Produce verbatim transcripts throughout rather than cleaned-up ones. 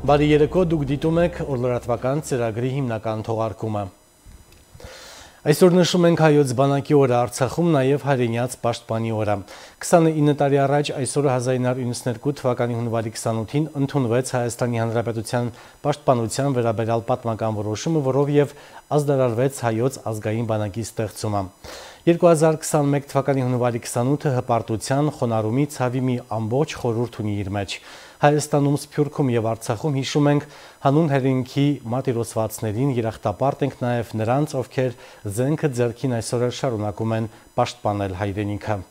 Բարի երեկո, դուք դիտում եք օրլրատվական ծրագրի հիմնական թողարկումը։ Այսօր նշում ենք հայոց բանակի օրը Արցախում, նաև հայրենյաց պաշտպանի օրը։ քսանինը տարի առաջ այսօրը հազար ինը հարյուր իննսունհինգ թվականի հունվարի քսանութին ընդունվեց Հայաստանի Հանրապետության պաշտպանության վերաբերյալ պատմական որոշումը, որով եւ ազդարարվեց հայոց ազգային բանակի ստեղծումը։ երկու հազար քսանմեկ թվականի հունվարի քսանութը հպարտության, խոնարհումի, ցավի մի ամբողջ խորհուրդ ունի իր մեջ։ Հայաստանում, Սփյուռքում եւ Արցախում հիշում ենք հանուն հայրենիքի մատիրոսվածներին, երախտապարտ ենք նաեւ նրանց, ովքեր զենքը ձեռքին այսօր շարունակում են պաշտպանել հայրենիքը։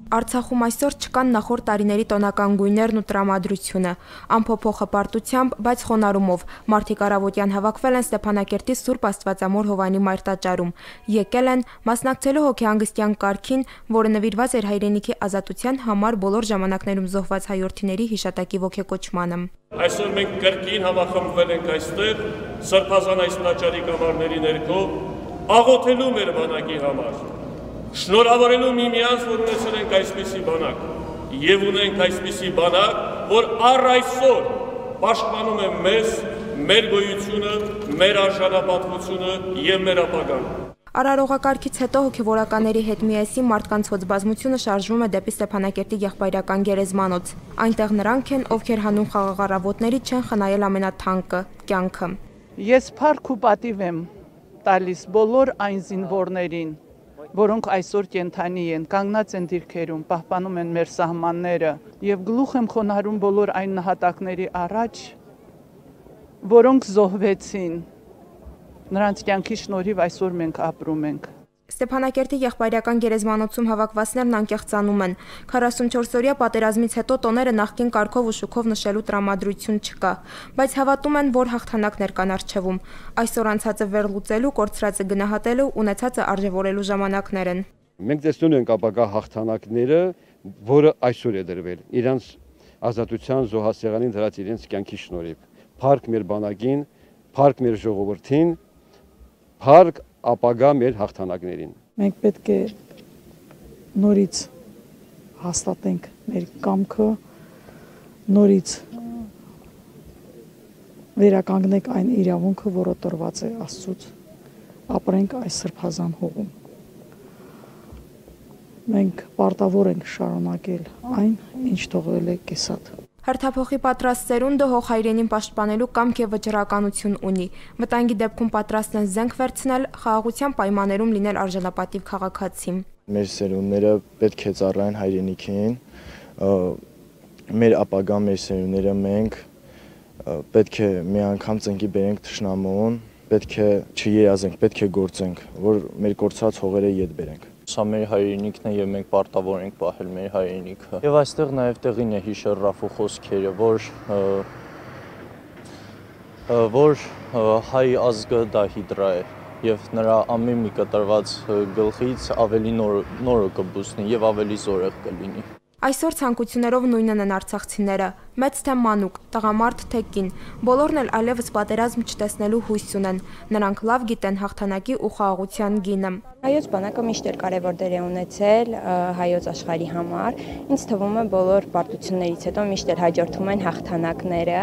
Արցախում այսօր չկան նախորդ տարիների տոնական գույներն ու տրամադրությունը, ամփոփող հպարտությամբ, բայց խոնարհումով մարդիկ առավոտյան հավաքվել են Ստեփանակերտի Սուրբ Աստվածամոր Հովանի մայրտաճարում, եկել են մասնակցելու հոգեհանգստյան կարգին, որը նվիրված էր հայրենիքի ազատության համար բոլոր ժամանակներում զոհված հայրենիների հիշատակի ոգեկոչմանը։ Այսօր մենք կրկին համախմբվել ենք այստեղ Սրբազան այս տաճարի կամարների ներքո, աղոթելու մեր բանակի համար։ Շնորհավորելու միմյանց, որ ունեցել ենք այսպիսի բանակ, եւ ունենք այսպիսի բանակ, որ առ այսօր պաշտպանում է մեզ, մեր գոյությունը, մեր արժանապատվությունը եւ մեր ապագան։ Արարողակարգից հետո հոգևորականների հետ միասին մարդկանց հոծբազմությունը շարժվում է դեպի Ստեփանակերտի եղբայրական գերեզմանոց։ Այնտեղ նրանք են, ովքեր հանուն խաղաղառավոտների չեն խնայել ամենաթանկը՝ կյանքը։ Ես փառք ու պատիվ եմ տալիս բոլոր այն զինվորներին, որոնք այսօր կենթանի են, կանգնած են դիրքերում, պահպանում են մեր սահմանները եւ գլուխ եմ խոնարհում բոլոր այն նահատակների առաջ, որոնք զոհվեցին։ Նրանց կյանքի շնորհիվ այսօր մենք ապրում ենք։ Ստեփանակերտի եղբայրական գերեզմանոցում հավաքվածներն անկեղծանում են։ քառասունչորսօրյա պատերազմից հետո տոները նախկին կարգով ու շուքով նշելու տրամադրություն չկա, բայց հավատում են, որ հաղթանակներ կան առջևում։ Այսօր անցածը վերլուծելու, կորցրածը գնահատելու, ունեցածը արժևորելու ժամանակներ են։ Մենք տեսնում ենք ապագա հաղթանակները, որը այսօր է դրվել, իրանց ազատության զոհասեղանին դրած իրենց կյանքի շնորհիվ։ Փառք մեր բանակին, փառք մեր ժողովրդին, փառք ապագա մեր հաղթանակներին։ Մենք պետք է նորից հաստատենք մեր կամքը, նորից վերականգնենք այն իրավունքը, որը տրված է Աստծուց, ապրենք այս սրբազան հողում։ Մենք պարտավոր ենք շարունակել այն, ինչ թողել է կեսատ։ Հերթափոխի պատրաստ սերունդը հող հայրենին պաշտպանելու կամք եւ վճռականություն ունի։ Վտանգի դեպքում պատրաստ են զենք վերցնել, խաղաղության պայմաններում լինել արժանապատիվ քաղաքացի։ Մեր սերունդները պետք է ծառայեն հայրենիքին, մեր ապագա մեր սերունդները մենք պետք է մի անգամ ծնկի բերենք թշնամուն, պետք է չերազենք, պետք է գործենք, որ մեր կորցած հողերը ետ բերենք։ Սա մեր հայրենիքն է եւ մենք պարտավոր ենք պահել մեր հայրենիքը։ Եվ այստեղ նաեւ տեղին է հիշել Ռաֆու խոսքերը, որ որ հայ ազգը դա հիդրա է եւ նրա ամեն մի կտրված գլխից ավելի նորը կբուսնի եւ ավելի զորեղ կլինի։ Այսօր ցանկություններով նույնն են արցախցիները, մեծ թե մանուկ, տղամարդ թե կին, բոլորն էլ այլևս պատերազմ չտեսնելու հույս ունեն, նրանք լավ գիտեն հաղթանակի ու խաղաղության գինը։ Հայոց բանակը միշտ էլ կարևոր դեր է ունեցել հայոց աշխարհի համար, ինձ թվում է բոլոր պարտություններից հետո միշտ էլ հաջորդում են հաղթանակները,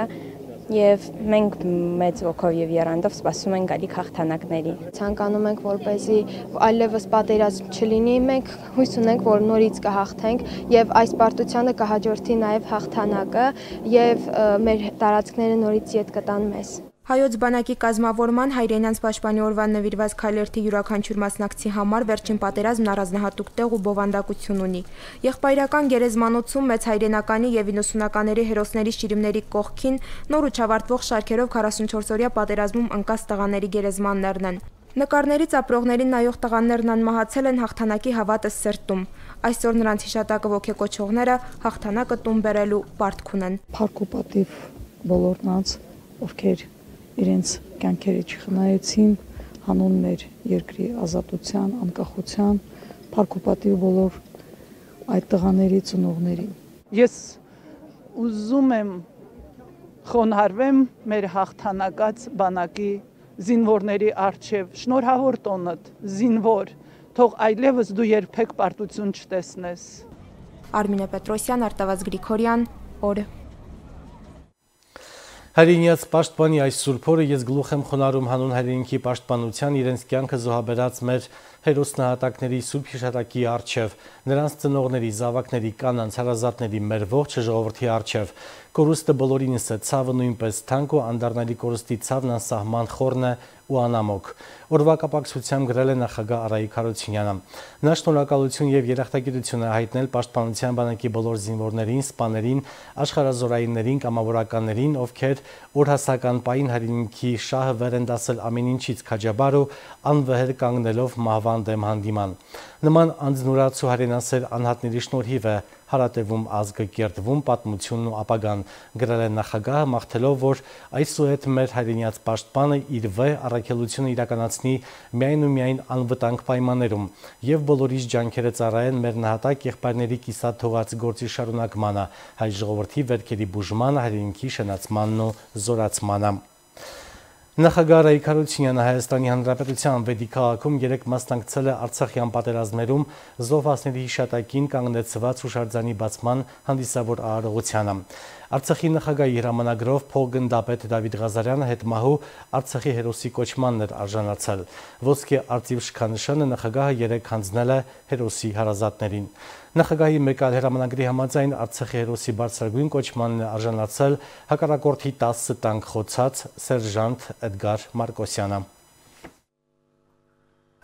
եւ մենք մեծ ոգով եւ եռանդով սպասում ենք գալիք հաղթանակների։ Ցանկանում ենք, որպեսզի այլևս պատերազմ չլինի, մենք հույս ունենք, որ նորից կհաղթենք եւ այս պարտությանը կհաջորդի նաեւ հաղթանակը եւ մեր տարածքները նորից ետ կտան մեզ։ Հայոց բանակի կազմավորման հայրենյանց պաշտպանի օրվան նվիրված քայլերթի յուրաքանչյուր մասնակցի համար վերջին պատերազմն առանձնահատուկ տեղ ու բովանդակություն ունի։ Եղբայրական գերեզմանոցում մեծ հայրենականի եւ իննսունականների հերոսների շիրիմների կողքին նոր ու չավարտվող շարքերով քառասունչորսօրյա պատերազմում ընկած տղաների գերեզմաններն են։ Նկարներից ապրողներին նայող տղաներն անմահացել են հաղթանակի հավատը սրտում։ Այսօր նրանց հիշատակը ոգեկոչողները հաղթանակը տուն բերելու պարտք ունեն։ Փառք ու պատիվ բոլոր նրանց, ովքեր իրենց կյանքերը չխնայեցին հանուն մեր երկրի ազատության, անկախության, փառք ու պատիվ բոլոր այդ տղաների ծնողներին։ Ես ուզում եմ խոնարհվեմ մեր հաղթանակած բանակի զինվորների առջև, շնորհավոր տոնդ, զինվոր, թող այլևս դու երբեք պարտություն չտեսնես։ Արմինե Պետրոսյան, Արտավազ Գրիգորյան, օր։ Հայրենիաց պաշտպանի այս սուրբ օրը ես գլուխ եմ խոնարհում հանուն հայրենիքի պաշտպանության իրենց կյանքը զոհաբերած մեր հերոսնահատակների սուրբ հիշատակի առջև, նրանց ծնողների, զավակների, կանանց, հարազատների, մեր ողջ ժողովրդի առջև։ Կորուստը բոլորինս է, ցավը նույնպես թանկ ու անդառնալի կորուստի ցավն անսահման խորն է ու անամոք։ Օրվա կապակցությամբ գրել է նախագահ Արայիկ Հարությունյանը։ Նա շնորհակալություն եւ երախտագիտություն է հայտնել Պաշտպանության բանակի բոլոր զինվորներին, սպաներին, աշխարհազորայիններին, կամավորականներին, ովքեր օրհասական պահին հայրենիքի շահը վեր են դասել ամեն ինչից քաջաբար ու անվեհեր կանգնելով մահվան դեմ հանդիման։ Նման անձնուրացու հայրենասեր անհատների շնորհիվ է հարատևում ազգը, կերտվում պատմությունն ու ապագան, գրել է նախագահը, մաղթելով, որ այսուհետ մեր հայրենիաց պաշտպանը իր վեհ առաքելությունը իրականացնի միայն ու միայն անվտանգ պայմաններում եւ բոլորիս ջանքերը ծառայեն մեր նահատակ եղբայրների կիսատ թողած գործի շարունակմանը, հայ ժողովրդի վերքերի բուժմանը, հայրենիքի շնացմանն ու զորացմանը։ Նախագահ Արայիկ Հարությունյանը Հայաստանի Հանրապետության Վեդի քաղաքում երեկ մասնակցել է Արցախյան պատերազմներում զոհվածների հիշատակին կանգնեցված հուշարձանի բացման հանդիսավոր արարողությանը։ Արցախի նախագահի հրամանագրով փոխգնդապետ Դավիթ Ղազարյանը հետմահու Արցախի հերոսի կոչմանն էր արժանացել։ Ոսկե արծիվ շքանշանը նախագահը երեկ հանձնել է հերոսի հարազատներին։ Նախագահի մեկ այլ հրամանագրի համաձայն Արցախի հերոսի բարձրագույն կոչմանն է արժանացել հակառակորդի տասը տանկ խոցած սերժանտ Էդգար Մարկոսյանը։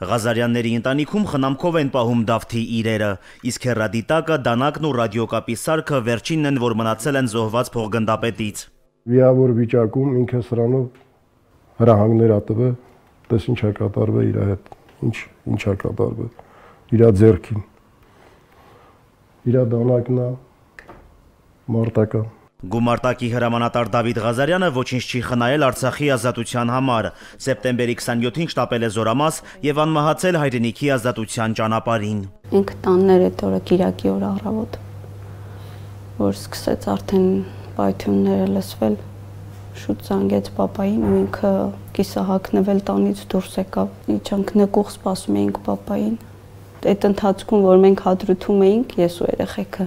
Ղազարյանների ընտանիքում խնամքով են պահում Դավթի իրերը, իսկ հեռադիտակը, դանակն ու ռադիոկապի սարքը վերջինն են, որ մնացել են զոհված փոխգնդապետից։ Վիավոր վիճակում ինքը սրանով հրահանգներ ատվել, տես ինչ է կատարվել իր հետ, ինչ ինչ է կատարվել իր ձեռքին։ Իր դանակն է մարտական։ Գումարտակի հրամանատար Դավիթ Ղազարյանը ոչինչ չի խնայել Արցախի ազատության համար։ Սեպտեմբերի քսաներկուին շտապել է Զորամաս եւ անմահացել հայրենիքի ազատության ճանապարհին։ Ինքը տաններ այդ օրը Կիրակի օր առավոտ, որ սկսեց արդեն պայթյունները լսվել, շուտ զանգեց պապային ու ինքը կիսահագնվել տանից դուրս եկավ։ Իջանք նկուղ սպասում էինք պապային։ Այդ ընթացքում, որ մենք հադրութում էինք, ես ու երեխեքը,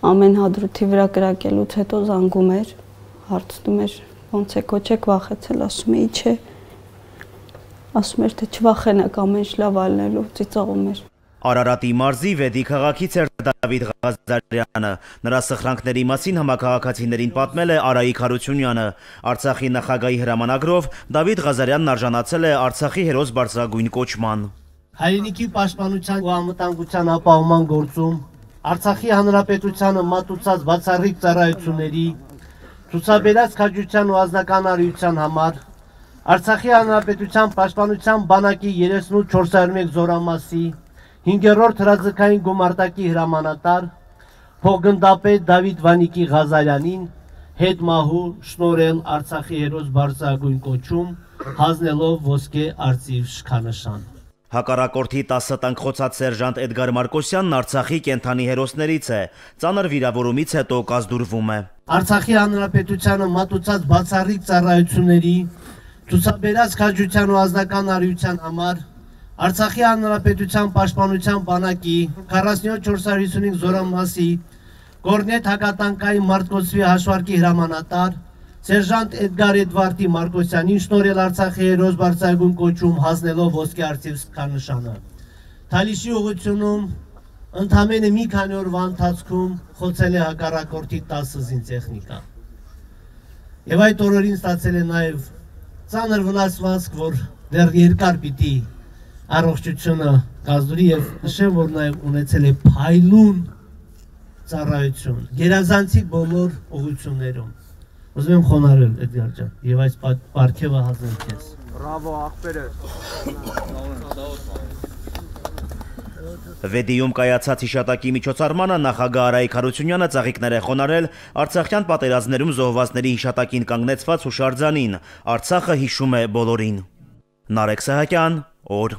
ամեն հադրութի վրա կրակելուց հետո զանգում էր, հարցնում էր, ոնց է կոչեք վախեցել, ասում էի չէ, ասում էր, թե չվախենակ ամեն ինչ լավ ալնելու, ծիծաղում էր։ Արարատի մարզի Վեդի քաղաքից էր Դավիթ Ղազարյանը։ Նրա սխրանքների մասին համակարգացիներին պատմել է Արայիկ Հարությունյանը։ Արցախի նախագահի հրամանագրով Դավիթ Ղազարյանն արժանացել է Արցախի հերոս բարձրագույն կոչման։ Հայրենիքի պաշտպանության ու անվտանգության ապահովման գործում Արցախի Հանրապետությանը մատուցած բացառիկ ծառայությունների, ցուցաբերած քաջության ու ազնական արիության համար Արցախի Հանրապետության պաշտպանության բանակի երեսունութ Զորամասի հինգերորդ հրաձգային գումարտակի հրամանատար փոխգնդապետ Դավիթ Վանիկի Ղազարյանին հետմահու շնորհել Արցախի հերոս բարձրագույն կոչում, հանձնելով ոսկե արծիվ շքանշան։ Հակառակորդի տասը տանկ խոցած սերժանտ Էդգար Մարկոսյանն Արցախի կենթանի հերոսներից է, ծանր վիրավորումից հետո կազդուրվում է։ Արցախի Հանրապետությանը մատուցած բացառիկ ծառայությունների, ցուցաբերած քաջության ու ազնական արիության համար Արցախի Հանրապետության պաշտպանության բանակի քառասունյոթ Զորամասի Կորնետ հակատանկային մարտկոցվի հաշվարկի հրամանատար Սերժանտ Էդգար Էդվարդի Մարկոսյանին շնորհել Արցախի հերոս բարձրագույն կոչում, հանձնելով ոսկե արծիվ շքանշանը։ Թալիշի ուղղությունում ընդամենը մի քանի օրվա ընթացքում խոցել է հակառակորդի տասը զինտեխնիկա։ Եվ այդ օրերին ստացել է նաև ծանր վնասվածք, որ դեռ երկար պիտի առողջությունը կազդուրի, եւ նշեմ, որ նաև ունեցել է փայլուն ծառայություն գերազանցիկ բոլոր ուղղություններում։ Ուզում եմ խոնարհել Էդգար ջան, եւ այս պարգևը հանձնել քեզ։ Բրավո, աղբերս։ Վեդիում կայացած հիշատակի միջոցառմանը նախագահ Արայիկ Հարությունյանը ծաղիկներ է խոնարհել Արցախյան պատերազմներում զոհվածների հիշատակին կանգնեցված հուշարձանին։ Արցախը հիշում է բոլորին։ Նարեկ Սահակյան, օր։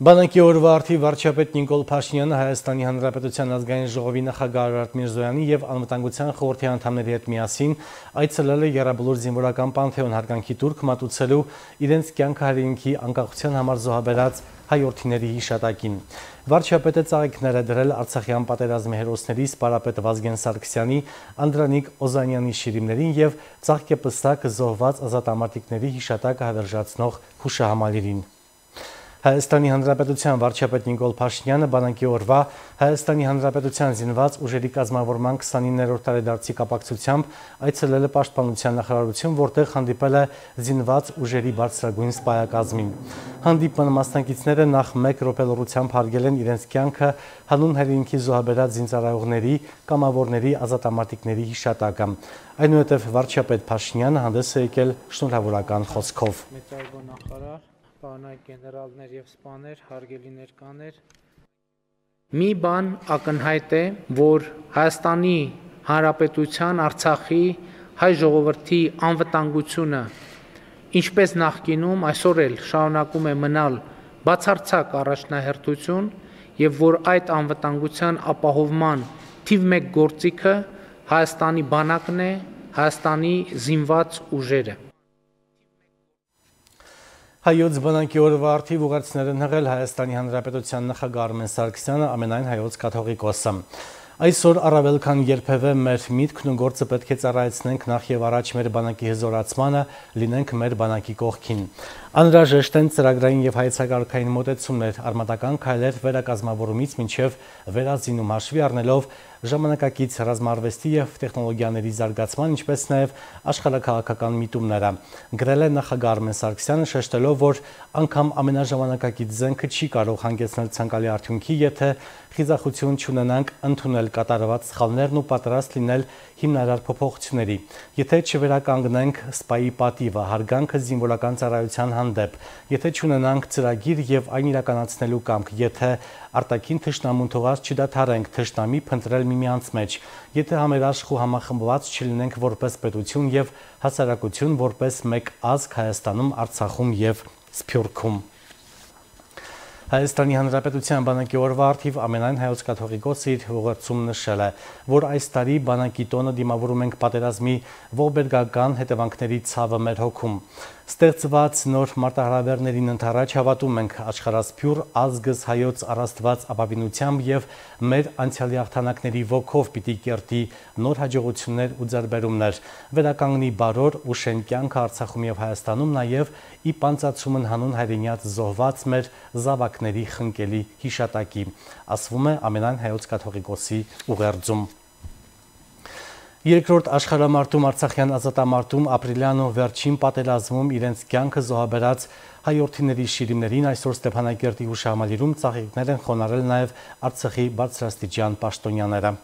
Բանակի օրվա արդի վարչապետ Նիկոլ Փաշինյանը Հայաստանի Հանրապետության ազգային ժողովի նախագահ Արարատ Միրզոյանի եւ անվտանգության խորհրդի անդամների հետ միասին այցելել է Եռաբլուր զինվորական պանթեոն հարգանքի տուրք մատուցելու իրենց կյանքը հայրենիքի անկախության համար զոհաբերած հայորդիների հիշատակին։ Վարչապետը ծաղիկներ է դրել Արցախյան պատերազմի հերոսների սպարապետ Վազգեն Սարգսյանի, Անդրանիկ Օզանյանի շիրիմներին և ծաղկեպսակ զոհված ազատամարտիկների հիշատակը հավերժացնող հուշահամալիրին։ Հայաստանի Հանրապետության վարչապետ Նիկոլ Փաշինյանը բանակի օրվա Հայաստանի Հանրապետության զինված ուժերի կազմավորման քսանիններորդ տարեդարձի կապակցությամբ այցելել է Պաշտպանության նախարարություն, որտեղ հանդիպել է զինված ուժերի բարձրագույն սպայակազմին։ Հանդիպման մասնակիցները նախ մեկ րոպե լռությամբ հարգել են իրենց կյանքը հանուն հայրենիքի զոհաբերած զինծառայողների, կամավորների, ազատամարտիկների հիշատակը։ Այնուհետև վարչապետ Փաշինյանը հանդես է եկել շնորհավորական խոսքով։ Պարոնայք գեներալներ և սպաներ, հարգելի ներկաներ, մի բան ակնհայտ է, որ Հայաստանի Հանրապետության Արցախի հայ ժողովրդի անվտանգությունը, ինչպես նախկինում, այսօր էլ շարունակում է մնալ բացարձակ առաջնահերթություն և որ այդ անվտանգության ապահովման թիվ մեկ գործիքը Հայաստանի բանակն է, Հայաստանի զինված ուժերը։ Հայոց բանակի օրվա արդիվ ուղերձներ են հղել Հայաստանի Հանրապետության նախագահ Արմեն Սարգսյանը, ամենայն հայոց կաթողիկոսը։ Այսօր առավել քան երբևէ մեր միտքն ու գործը պետք է ծառայեցնենք նախ եւ առաջ մեր բանակի հզորացմանը, լինենք մեր բանակի կողքին։ Անհրաժեշտ են ծրագրային եւ հայեցակարգային մոտեցումներ, արմատական քայլեր վերակազմավորումից մինչեւ վերազինում հաշվի առնելով ժամանակակից ռազմարվեստի եւ տեխնոլոգիաների զարգացման, ինչպես նաեւ աշխարհաքաղաքական միտումները։ Գրել է նախագահ Արմեն Սարգսյանը, շեշտելով, որ անգամ ամենաժամանակակից զենքը չի կարող հանգեցնել ցանկալի արդյունքի, եթե խիզախություն չունենանք ընդունել կատարված սխալներն ու պատրաստ լինել հիմնարար փոփոխությունների։ Եթե չվերականգնենք սպայի պատիվը, հարգանքը զինվորական ծառայության հանդեպ, եթե չունենանք ծրագիր եւ այն իրականացնելու կամք, եթե արտաքին թշնամուն թողած չդադարենք թշնամի փնտրել միմյանց մեջ, եթե համերաշխ ու համախմբված չլինենք որպես պետություն եւ հասարակություն, որպես մեկ ազգ Հայաստանում, Արցախում եւ Սփյուռքում։ Հայաստանի Հանրապետության բանակի օրվա արդիվ ամենայն հայոց կաթողիկոսը իր ուղերձում նշել է, որ այս տարի բանակի տոնը դիմավորում ենք պատերազմի ողբերգական հետևանքների ցավը մեր հոգում։ Ստեղծված նոր մարտահրավերներին ընդառաջ հավատում ենք աշխարհասփյուռ ազգս հայոց առաստված ապավինությամբ եւ մեր անցյալի հաղթանակների ոգով պիտի կերտի նոր հաջողություններ ու ձեռբերումներ, վերականգնի բարոր ու շեն կյանքը Արցախում եւ Հայաստանում, նաեւ ի պանծացումն հանուն հայրենիած զոհված մեր զավակների խնկելի հիշատակի, ասվում է ամենայն հայոց կաթողիկոսի ուղերձում։ Երկրորդ աշխարհամարտում Արցախյան ազատամարտում ապրիլյան ու վերջին պատերազմում իրենց կյանքը զոհաբերած հայորդիների շիրիմներին այսօր Ստեփանակերտի հուշահամալիրում ծաղիկներ են խոնարհել նաև Արցախի բարձրաստիճան պաշտոնյաները։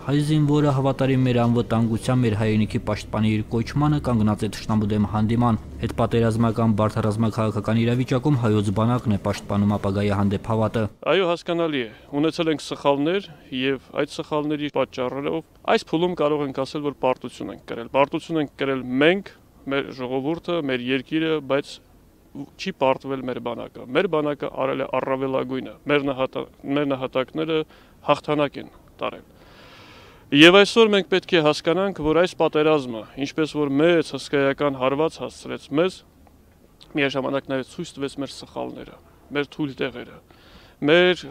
Հայ զինվորը հավատարիմ մեր անվտանգության, մեր հայրենիքի պաշտպանի իր կոչմանը կանգնած է թշնամու դեմ հանդիման։ Հետպատերազմական բարդ ռազմաքաղաքական իրավիճակում հայոց բանակն է պաշտպանում ապագայի հանդեպ հավատը։ Այո, հասկանալի է։ Ունեցել ենք սխալներ եւ այդ սխալների պատճառով այս փուլում կարող ենք ասել, որ պարտություն ենք կրել։ Պարտություն ենք կրել մենք, մեր ժողովուրդը, մեր երկիրը, բայց չի պարտվել մեր բանակը։ Մեր բանակը արել է առավելագույնը։ Մեր նահատակները հաղթանակ են տարել։ Եվ այսօր մենք պետք է հասկանանք, որ այս պատերազմը, ինչպես որ մեծ հսկայական հարված հասցրեց մեզ, միաժամանակ նաև ցույց տվեց մեր սխալները, մեր թույլ տեղերը, մեր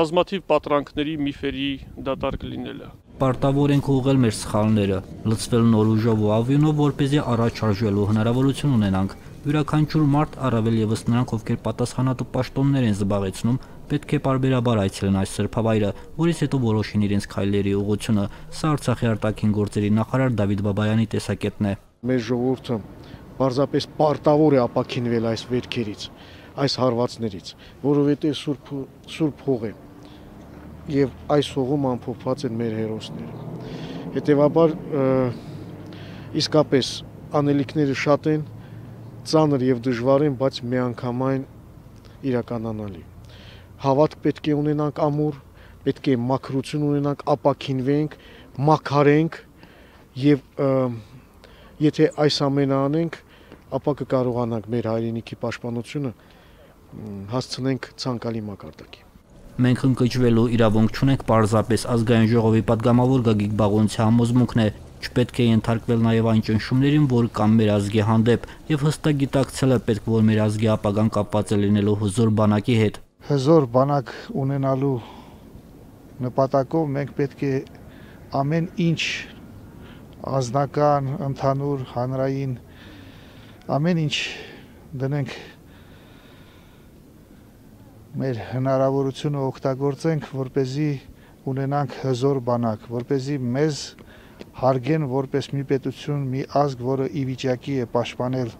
բազմաթիվ պատրանքների միֆերի դատարկ լինելը։ Պարտավոր ենք ուղղել մեր սխալները, լցվել նոր ուժով ու ավյունով, որպեսզի առաջ շարժվելու հնարավորություն ունենանք։ Յուրաքանչյուր մարդ, առավել ևս նրանք, ովքեր պատասխանատու պաշտոններ են զբաղեցնում, պետք է պարբերաբար այցելեն այս սրբավայրը, որից հետո որոշին իրենց քայլերի ուղղությունը։ Սա Արցախի արտաքին գործերի նախարար Դավիթ Բաբայանի տեսակետն է։ Մեր ժողովուրդը պարզապես պարտավոր է ապաքինվել այս վերքերից, այս հարվածներից, որովհետև սուրբ սուրբ հող է եւ այս հողում ամփոփված են մեր հերոսները։ Հետևաբար իսկապես անելիքները շատ են, ծանր եւ դժվար են, բայց միանգամայն իրականանալի։ Հավատք պետք է ունենանք ամուր, պետք է մաքրություն ունենանք, ապաքինվենք, մաքարենք եւ Եթե այս ամենը անենք, ապա կկարողանանք մեր հայրենիքի պաշտպանությունը հասցնենք ցանկալի մակարդակի։ Մենք ընկճվելու իրավունք չունենք պարզապես ազգային ժողովի պատգամավոր Գագիկ Բաղոնցի համոզմունքն է, չպետք է ենթարկվել նաև այն ճնշումներին, որ կան մեր ազգի հանդեպ, եւ հստակ գիտակցել է պետք, որ մեր ազգի ապագան կապված է լինելու հզոր բանակի հետ։ Հզոր բանակ ունենալու նպատակով մենք պետք է ամեն ինչ ազնական, ընդհանուր, հանրային ամեն ինչ դնենք մեր հնարավորությունը օգտագործենք, որպեսզի ունենանք հզոր բանակ, որպեսզի մեզ հարգեն որպես մի պետություն, մի ազգ, որը ի վիճակի է պաշտպանել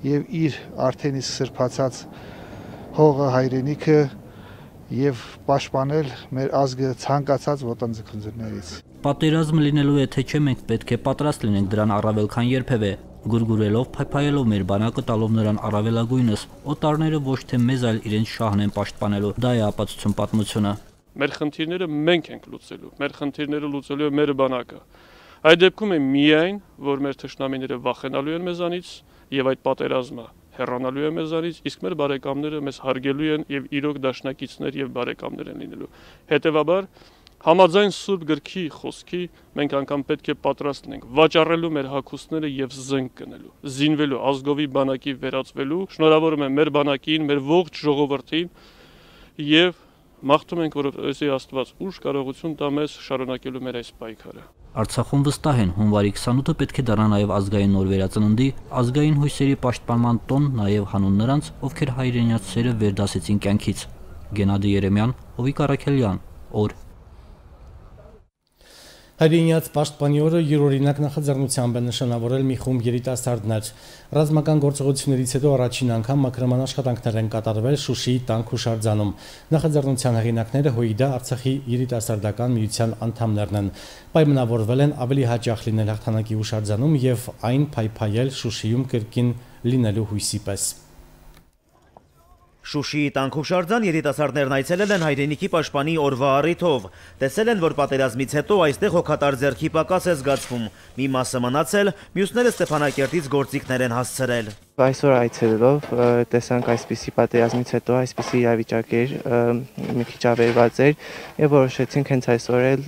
եւ իր արդեն իսկ սրբացած հողը, հայրենիքը եւ պաշտպանել մեր ազգը ցանկացած ոտնձգություններից։ Պատերազմ լինելու է թե չէ, մենք պետք է պատրաստ լինենք դրան առավել քան երբևէ, գուրգուրելով, փայփայելով մեր բանակը, տալով նրան առավելագույնս, օտարները ոչ թե մեզ, այլ իրենց շահն են պաշտպանելու։ Դա է ապացուցում պատմությունը։ Մեր խնդիրները մենք ենք լուծելու, մեր խնդիրները լուծելու է մեր բանակը։ Այդ դեպքում է միայն, որ մեր թշնամիները վախենալու են մեզանից եւ այդ պատերազմը հեռանալու է մեզանից, իսկ մեր բարեկամները մեզ հարգելու են եւ իրոք դաշնակիցներ եւ բարեկամներ են լինելու։ Հետեւաբար Համաձայն Սուրբ գրքի խոսքի մենք անգամ պետք է պատրաստ լինենք վաճառելու մեր հագուստները եւ զենք կնելու, զինվելու, ազգովի բանակի վերածվելու։ Շնորհավորում եմ մեր բանակին, մեր ողջ ժողովրդին եւ մաղթում ենք, որովհետեւ Աստված ուժ կարողություն տա մեզ շարունակելու մեր այս պայքարը։ Արցախում վստահ են, հունվարի քսանութը պետք է դառնա նաև ազգային նոր վերածննդի, ազգային հույսերի պաշտպանման տոն, նաև հանուն նրանց, ովքեր հայրենիաց սերը վերդասեցին կյանքից։ Գենադի Երեմյան, Հովիկ Արաքելյան, օր Հայրենիաց պաշտպանի օրը յուրօրինակ նախաձեռնությամբ է նշանավորել մի խումբ երիտասարդներ։ Ռազմական գործողություններից հետո առաջին անգամ մաքրման աշխատանքներ են կատարվել Շուշիի տանք հուշարձանում։ Նախաձեռնության հեղինակները ՀՅԴ Արցախի երիտասարդական միության անդամներն են։ Պայմանավորվել են ավելի հաճախ լինել հաղթանակի հուշարձանում եւ այն փայփայել Շուշիում կրկին լինելու հույսի պես։ Շուշիի տանք հուշարձան երիտասարդներն այցելել են հայրենիքի պաշտպանի օրվա առիթով։ Տեսել են, որ պատերազմից հետո այստեղ հոգատար ձեռքի պակաս է զգացվում։ Մի մասը մնացել, մյուսները Ստեփանակերտից գործիքներ են հասցրել։ Այսօր այցելելով տեսանք այսպիսի պատերազմից հետո այսպիսի իրավիճակ էր, մի քիչ ավերված էր եւ որոշեցինք հենց այսօր էլ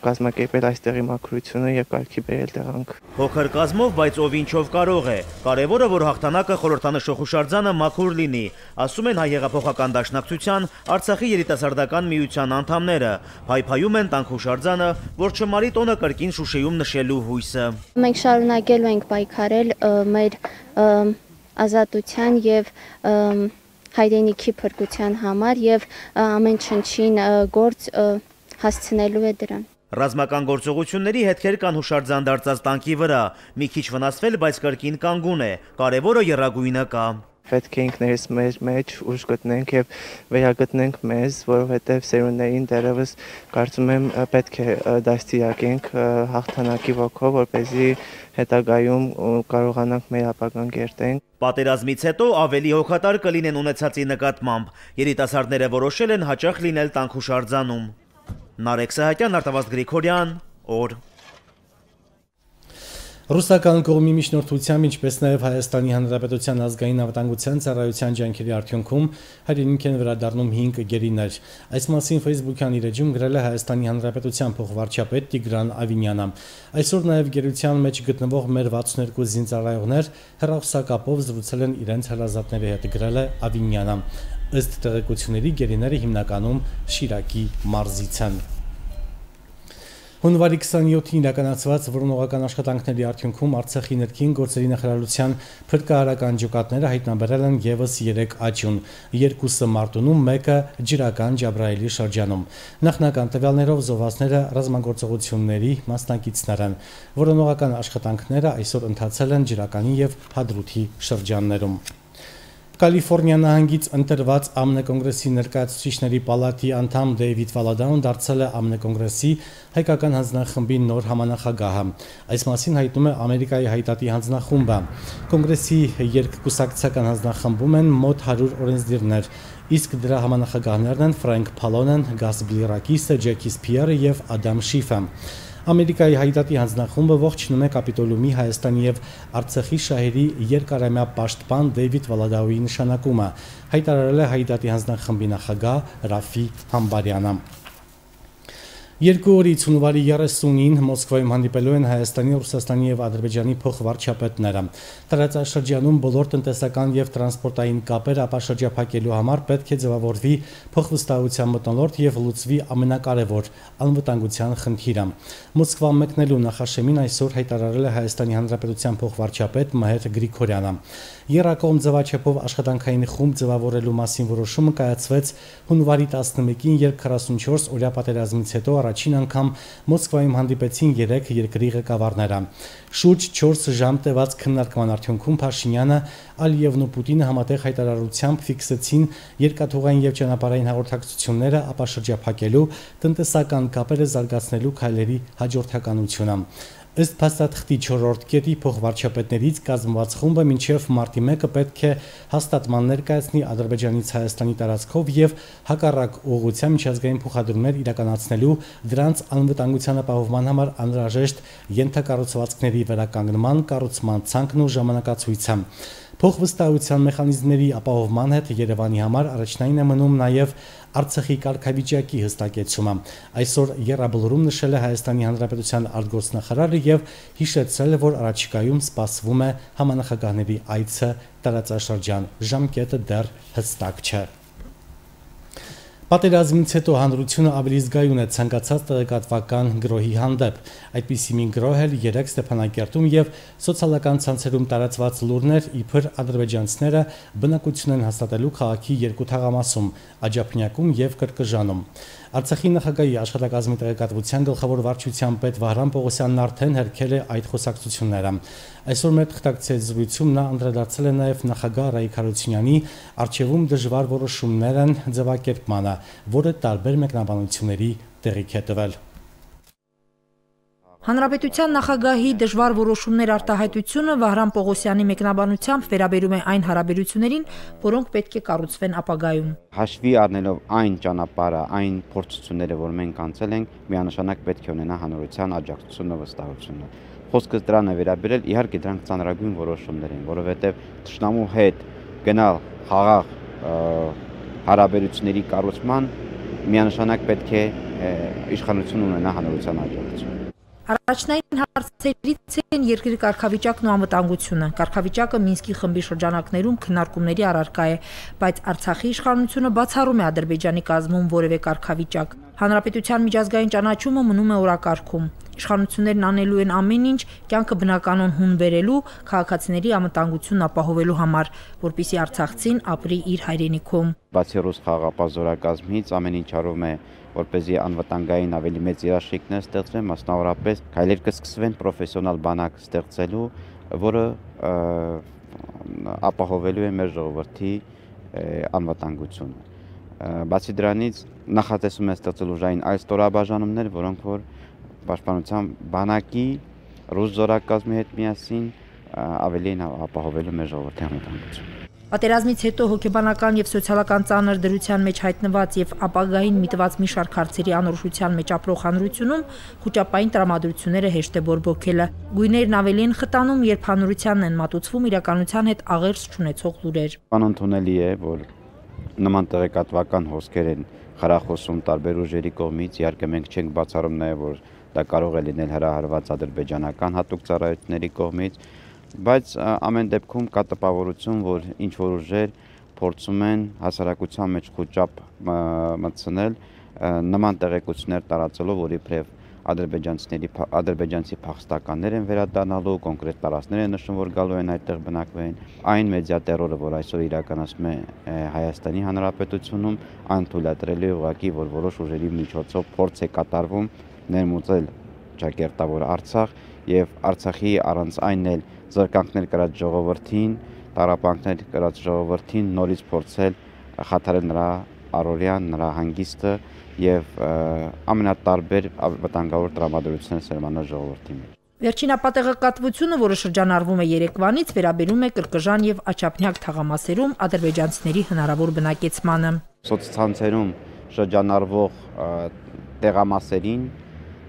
կազմակերպել այստեղի մաքրությունը եւ կարգի բերել տեղանք։ Փոքր կազմով, բայց ով ինչով կարող է։ Կարևորը, որ հաղթանակը խորհրդանշող հուշարձանը մաքուր լինի, ասում են հայ հեղափոխական դաշնակցության Արցախի երիտասարդական միության անդամները։ Փայփայում են տանք հուշարձանը, որ չմարի տոնը կրկին Շուշիում նշելու հույսը։ Մենք շարունակելու ենք պայքարել մեր ազատության եւ հայրենիքի փրկության համար եւ ամեն չնչին գործ հասցնելու է դրան։ Ռազմական գործողությունների հետքեր կան հուշարձան դարձած տանկի վրա։ Մի քիչ վնասվել, բայց կրկին կանգուն է։ Կարևորը եռագույնը կա։ Պետք է ինքներս մեր մեջ ուժ գտնենք եւ վերագտնենք մեզ, որովհետեւ սերունդներին դեռևս կարծում եմ պետք է դաստիարակենք հաղթանակի ոգով, որպեսզի հետագայում կարողանանք մեր ապագան կերտենք։ Պատերազմից հետո ավելի հոգատար կլինեն ունեցածի նկատմամբ։ Երիտասարդները որոշել են հաճախ լինել տանք հուշարձանում։ Նարեկ Սահակյան, Արտավազդ Գրիգորյան, օր Ռուսական կողմի միջնորդությամբ, ինչպես նաև Հայաստանի Հանրապետության ազգային անվտանգության ծառայության ջանքերի արդյունքում հայրենիք են վերադառնում հինգ գերիներ։ Այս մասին Facebook-յան իր էջում գրել է Հայաստանի Հանրապետության փոխվարչապետ Տիգրան Ավինյանը։ Այսօր նաև գերության մեջ գտնվող մեր վաթսուներկու զինծառայողներ հեռախոսակապով զրուցել են իրենց հրազատների հետ, գրել է Ավինյանը։ Ըստ տեղեկությունների գերիները հիմնականում Շիրակի մարզից են։ Հունվարի քսանյոթին իրականացված որոնողական աշխատանքների արդյունքում Արցախի ներքին գործերի նախարարության փրկարարական ջոկատները հայտնաբերել են ևս երեք աճյուն, երկուսը Մարտունում, մեկը Ջրական Ջաբրայելի շրջանում։ Նախնական տվյալներով զոհվածները ռազմագործողությունների մասնակիցներ են։ Որոնողական աշխատանքները այսօր ընթացել են Ջրականի եւ Հադրութի շրջաններում։ Կալիֆոռնիա նահանգից ընտրված ԱՄՆ կոնգրեսի ներկայացուցիչների պալատի անդամ Դեյվիդ Վալադաուն դարձել է ԱՄՆ կոնգրեսի հայկական հանձնախմբի նոր համանախագահը։ Այս մասին հայտնում է Ամերիկայի հայտատի հանձնախումբը։ Կոնգրեսի երկկուսակցական հանձնախմբում են մոտ հարյուր օրենսդիրներ, իսկ դրա համանախագահներն են Ֆրենկ Փալոնեն, Գաս Բլիրակիսը, Ջեքի Սփիերը եւ Ադամ Շիֆը։ Ամերիկայի հայդատի հանձնախումբը ողջունում է Կապիտոլիումի Հայաստանի եւ Արցախի շահերի երկարամյա պաշտպան Դեյվիդ Վալադաուի նշանակումը, հայտարարել է հայդատի հանձնախմբի նախագահ Ռաֆի Համբարյանը։ Երկու օրից հունվարի երեսունին Մոսկվայում հանդիպելու են Հայաստանի, Ռուսաստանի եւ Ադրբեջանի փոխվարչապետները։ Տարածաշրջանում բոլոր տնտեսական եւ տրանսպորտային կապեր ապա շրջափակելու համար պետք է ձևավորվի փոխվստահության մթնոլորտ եւ լուծվի ամենակարևոր անվտանգության խնդիրը։ Մոսկվա մեկնելու նախաշեմին այսօր հայտարարել է Հայաստանի Հանրապետության փոխվարչապետ Մհեր Գրիգորյանը։ Երակոմ ձևաչափով աշխատանքային խումբ ձևավորելու մասին որոշումը կայացվեց հունվարի տասնմեկին, երբ քառասունչորս օրյա պատերազմից հետո առաջին անգամ Մոսկվայում հանդիպեցին երեք երկրի ղեկավարները։ Շուրջ չորս ժամ տևած քննարկման արդյունքում Փաշինյանը, Ալիևն ու Պուտինը համատեղ հայտարարությամբ ֆիքսեցին երկաթուղային եւ ճանապարհային հաղորդակցությունները, ապա շրջափակելու, տնտեսական կապերը զարգացնելու քայլերի հաջորդականությունը։ Ըստ փաստաթղթի չորրորդ կետի փոխվարչապետներից կազմված խումբը մինչև մարտի մեկը պետք է հաստատման ներկայացնի Ադրբեջանից Հայաստանի տարածքով եւ հակառակ ուղղության միջազգային փոխադրումներ իրականացնելու, դրանց անվտանգության ապահովման համար անհրաժեշտ ենթակառուցվածքների վերականգնման, կառուցման ցանկն ու ժամանակացույցը։ Փոխվստահության մեխանիզմների ապահովման հետ Երևանի համար առաջնային է մնում նաև Արցախի կարգավիճակի հստակեցումը։ Այսօր եռաբլուրում նշել է Հայաստանի Հանրապետության արտգործնախարարը եւ հիշեցրել, որ առաջիկայում սպասվում է համանախագահների այցը տարածաշրջան։ Ժամկետը դեռ հստակ չէ։ Պատերազմից հետո հանրությունը ավելի զգայուն է ցանկացած տեղեկատվական գրոհի հանդեպ։ Այդպիսի մի գրոհ էլ երեք Ստեփանակերտում եւ սոցիալական ցանցերում տարածված լուրներ, իբր ադրբեջանցիները բնակություն են հաստատելու քաղաքի երկու թաղամասում՝ Աջափնյակում եւ Կրկժանում։ Արցախի նախագահի աշխատակազմի տեղեկատվության գլխավոր վարչության պետ Վահրամ Պողոսյանն արդեն հերքել է այդ խոսակցությունները։ Այսօր մեր թղթակցի զրույցում նա անդրադարձել է նաև նախագահ Ռայիկ Հարությունյանի արչևում դժվար որոշումներ են ձևակերպմանը, որը տարբեր մեկնաբանությունների տեղիք է տվել։ Հանրապետության նախագահի դժվար որոշումներ արտահայտությունը Վահրամ Պողոսյանի մեկնաբանությամբ վերաբերում է այն հարաբերություններին, որոնք պետք է կառուցվեն ապագայում։ Հաշվի առնելով այն ճանապարհը, այն փորձությունները, որ մենք անցել ենք, միանշանակ պետք է ունենա հանրության աջակցությունը, վստահությունը։ Խոսքս դրան է վերաբերել, իհարկե դրանք ծանրագույն որոշումներ են, որովհետև թշնամու հետ գնալ խաղաղ հարաբերությունների կառուցման միանշանակ պետք է իշխանություն ունենա հանրության աջակցություն։ Առաջնային հարցերից են երկրի կարգավիճակն ու անվտանգությունը։ Կարգավիճակը Մինսկի խմբի շրջանակներում քննարկումների առարկա է, բայց Արցախի իշխանությունը բացառում է Ադրբեջանի կազմում որևէ կարգավիճակ։ Հանրապետության միջազգային ճանաչումը մնում է օրակարգում։ Իշխանություններն անելու են ամեն ինչ կյանքը բնականon հուն բերելու, քաղաքացիների անվտանգությունն ապահովելու համար, որպեսզի արցախցին ապրի իր հայրենիքում։ Բացի ռուս խաղաղապահ զորակազմից ամեն ինչ արվում է, որպեսզի անվտանգային ավելի մեծ երաշխիքներ ստեղծվեն, մասնավորապես քայլեր կսկսվեն պրոֆեսիոնալ բանակ ստեղծելու, որը ապահովելու է մեր ժողովրդի անվտանգությունը։ Բացի դրանից նախատեսում է ստեղծել ուժային այլ ստորաբաժանումներ, որոնք որ պաշտպանության բանակի ռուս զորակազմի հետ միասին ավելի են ապահովելու մեր ժողովրդի անվտանգությունը։ Պատերազմից հետո հոգեբանական եւ սոցիալական ծանր դրության մեջ հայտնված եւ ապագային միտված մի շարք հարցերի անորոշության մեջ ապրող հանրությունում խոճապային տրամադրությունները հեշտ է բորբոքելը։ Գույներն ավելի են խտանում, երբ հանրությանն են մատուցվում իրականության հետ աղերս չունեցող լուրեր։ Անընդունելի է, որ նման տեղեկատվական հոսքեր են խրախոսում տարբեր ուժերի կողմից, իհարկե մենք չենք բացառում նաեւ, որ դա կարող է լինել հրահարված ադրբեջանական հատուկ ծառայությունների կողմից, բայց ամեն դեպքում կա տպավորություն, որ ինչ որ ուժեր փորձում են հասարակության մեջ խոճապ մտցնել նման տեղեկություններ տարածելով, որ իբրև ադրբեջանցիների ադրբեջանցի փախստականներ են վերադառնալու, կոնկրետ տարածքներ են նշում, որ գալու են այդտեղ բնակվեն։ Այն մեդիա տերորը, որ այսօր իրականացում է Հայաստանի Հանրապետությունում, այն թույլատրել է ուղղակի, որ որոշ ուժերի միջոցով փորձ է կատարվում ներմուծել ճակերտավոր Արցախ եւ Արցախի առանց այն էլ զրկանքներ կրած ժողովրդին, տարապանքներ կրած ժողովրդին նորից փորձել խաթարել նրա առօրյան, նրա հանգիստը եւ ամենատարբեր վտանգավոր տրամադրություններ սերմանել ժողովրդի մեջ։ Վերջին ապատեղեկատվությունը, որը շրջանառվում է Երևանից, վերաբերում է Կրկժան եւ Աչափնյակ թաղամասերում ադրբեջանցիների հնարավոր բնակեցմանը։ Սոցցանցերում շրջանառվող տեղամասերին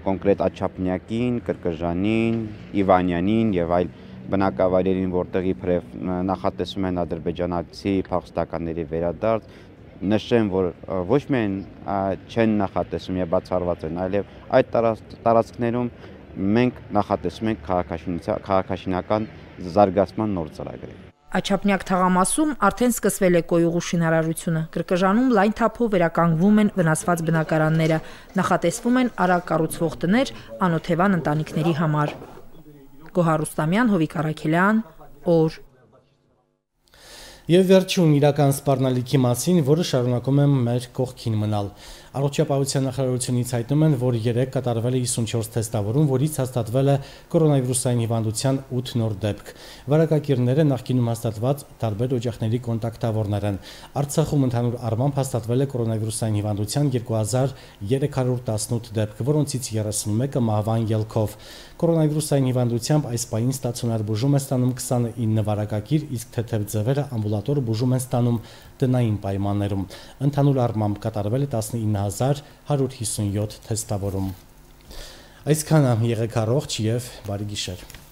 կոնկրետ Աչափնյակին, Կրկժանին, Իվանյանին եւ այլ բնակավայրերին, որտեղ իբրև նախատեսում են ադրբեջանացի փախստականների վերադարձ, նշեմ, որ ոչ միայն չեն նախատեսում եւ բացառված են, այլև այդ տարածքներում մենք նախատեսում ենք քաղաքաշինական զարգացման նոր ծրագրեր։ Աչափնյակ թաղամասում արդեն սկսվել է կոյուղու շինարարությունը։ Կրկժանում լայն թափով վերականգնվում են վնասված բնակարանները, նախատեսվում են արագ կառուցվող տներ անօթևան ընտանիքների համար։ Գոհար Ռուստամյան, Հովիկ Արաքելյան, օր։ Եվ վերջում իրական սպառնալիքի մասին, որը շարունակում է մեր կողքին մնալ։ Առողջապահության նախարարությունից հայտնում են, որ երեկ կատարվել է հիսունչորս թեստավորում, որից հաստատվել է կորոնավիրուսային հիվանդության ութ նոր դեպք։ Վարակակիրները նախկինում հաստատված տարբեր օջախների կոնտակտավորներ են։ Արցախում ընդհանուր առմամբ հաստատվել է կորոնավիրուսային հիվանդության երկու հազար երեք հարյուր տասնութ դեպք, որոնցից երեսունմեկը մահվան ելքով։ Կորոնավիրուսային հիվանդությամբ այս պահին ստացիոնար բուժում է ստանում քսանինը վարակակիր, իսկ թեթև ձևերը ամբուլատոր բուժում են ստանում տնային պայմաններում։ Ընդհանուր առմամբ կատարվել է տասնինը հազար հարյուր հիսունյոթ թեստավորում։ Այսքանը, եղեք առողջ եւ բարի գիշեր։